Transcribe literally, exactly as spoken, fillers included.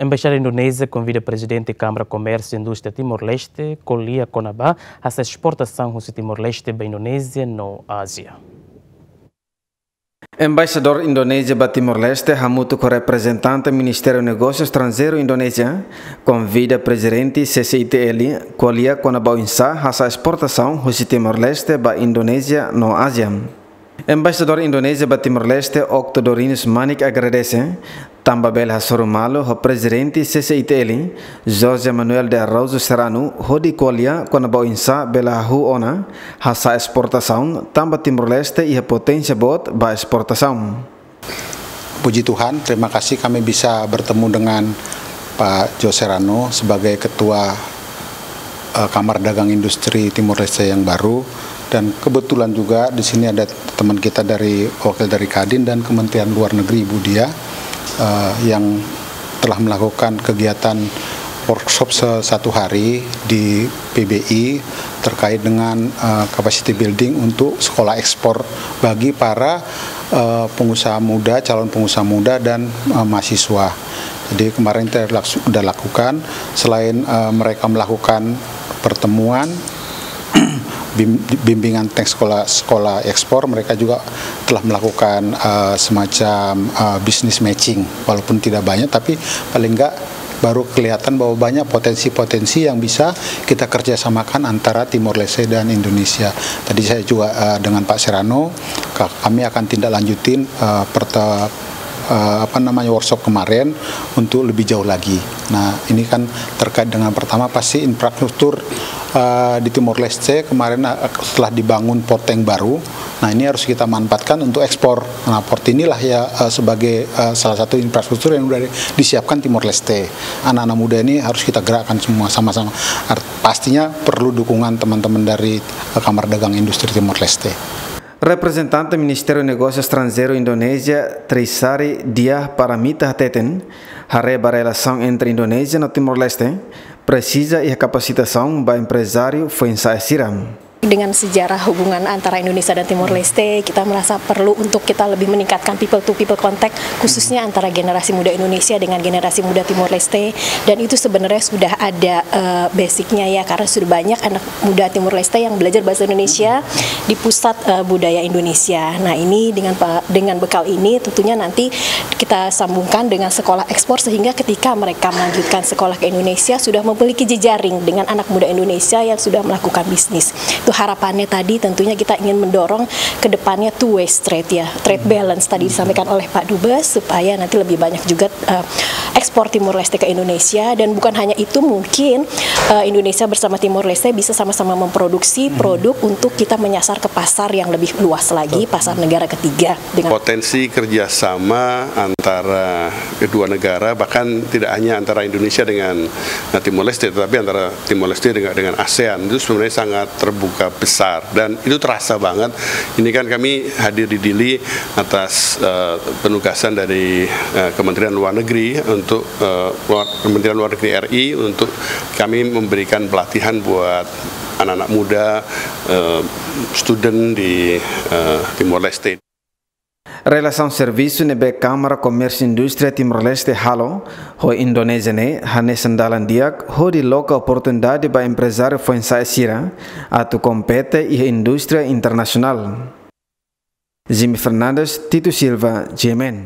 Embaixada Indonézia konvida Prezidente Kámara Komérsiu Indústria Timor-Leste ko'alia kona-ba hasa'e esportasaun husi Timor-Leste ba Indonézia no Ázia. Embaixadór Indonézia ba Timor-Leste hamutuk ho reprezentante Ministériu Negósiu Estranjeiru Indonézia konvida Prezidente C C I T L ko'alia kona-ba oinsá hasa'e esportasaun husi Timor-Leste ba Indonézia no Ázia. Embaixadór Indonézia ba Timor-Leste, Octo Dorinus Manik, agradese tanba bele hasoru malu ho Prezidente C C I T L, José Manuel de Araújo Serrano, hodi ko'alia kona-ba oinsá bele hahú ona hasa'e esportasaun, tanba Timor-Leste iha poténsia boot ba esportasaun. Puji Tuhan, terima kasih kami bisa bertemu dengan Pak José Serrano sebagai Ketua, eh, Kamar Dagang Industri Timor Leste yang baru. Dan kebetulan juga di sini ada teman kita dari, wakil dari Kadin dan Kementerian Luar Negeri, Ibu Diah, eh, yang telah melakukan kegiatan workshop se-, satu hari di P B I terkait dengan, eh, capacity building untuk sekolah ekspor bagi para, eh, pengusaha muda, calon pengusaha muda dan, eh, mahasiswa. Jadi kemarin kita laks-, sudah lakukan, selain, eh, mereka melakukan pertemuan, bim-, bimbingan tentang sekolah, sekolah ekspor, mereka juga telah melakukan, eh, semacam, eh, business matching, walaupun tidak banyak, tapi paling enggak baru kelihatan bahwa banyak potensi-potensi yang bisa kita kerjasamakan antara Timor Leste dan Indonesia. Tadi saya juga, eh, dengan Pak Serrano, ka-, kami akan tindak lanjutin, eh, perta-, eh, apa namanya, workshop kemarin untuk lebih jauh lagi. Nah, ini kan terkait dengan, pertama, pasti infrastruktur, eh, di Timor Leste kemarin, eh, setelah dibangun port yang baru. Nah, ini harus kita manfaatkan untuk ekspor. Nah, port inilah ya, eh, sebagai, eh, salah satu infrastruktur yang sudah disiapkan Timor Leste. Anak-anak muda ini harus kita gerakkan semua sama-sama. Art-, pastinya perlu dukungan teman-teman dari, eh, Kamar Dagang Industri Timor Leste. Reprezentante Ministériu Negósiu Estranjeiru Indonézia, Trisari Diah Paramita, hateten, haree ba relasaun entre Indonézia no Timor-Leste presiza iha kapasitasaun ba emprezáriu foin-sa'e sira. Dengan sejarah hubungan antara Indonesia dan Timor Leste, kita merasa perlu untuk kita lebih meningkatkan people to people contact, khususnya antara generasi muda Indonesia dengan generasi muda Timor Leste. Dan itu sebenarnya sudah ada, eh, basicnya ya, karena sudah banyak anak muda Timor Leste yang belajar bahasa Indonesia di pusat, eh, budaya Indonesia. Nah, ini dengan pe-, dengan bekal ini tentunya nanti kita sambungkan dengan sekolah ekspor, sehingga ketika mereka melanjutkan sekolah ke Indonesia sudah memiliki jejaring dengan anak muda Indonesia yang sudah melakukan bisnis. Itu harapannya tadi, tentunya kita ingin mendorong ke depannya two way street ya, trade balance tadi disampaikan oleh Pak Dubes, supaya nanti lebih banyak juga, eh, ekspor Timor Leste ke Indonesia. Dan bukan hanya itu, mungkin, eh, Indonesia bersama Timor Leste bisa sama-sama memproduksi produk untuk kita menyasar ke pasar yang lebih luas lagi, pasar negara ketiga. Dengan potensi kerjasama antara kedua negara, bahkan tidak hanya antara Indonesia dengan, eh, Timor Leste, tetapi antara Timor Leste dengan, dengan ASEAN, itu sebenarnya sangat terbuka besar dan itu terasa banget. Ini kan kami hadir di Dili atas, eh, penugasan dari, eh, Kementerian Luar Negeri untuk, eh, luar, Kementerian Luar Negeri R I untuk kami memberikan pelatihan buat anak-anak muda, eh, student di, eh, Timor Leste. Relasaun servisu ne'ebé Kámara Komérsiu Indústria Timor-Leste halo ho Indonézia ne'e hanesan dalan di'ak hodi loke oportunidade ba emprezáriu foin-sa'e sira atu kompete iha indústria internasionál. Jimmy Fernandes, Tito Silva, G M N.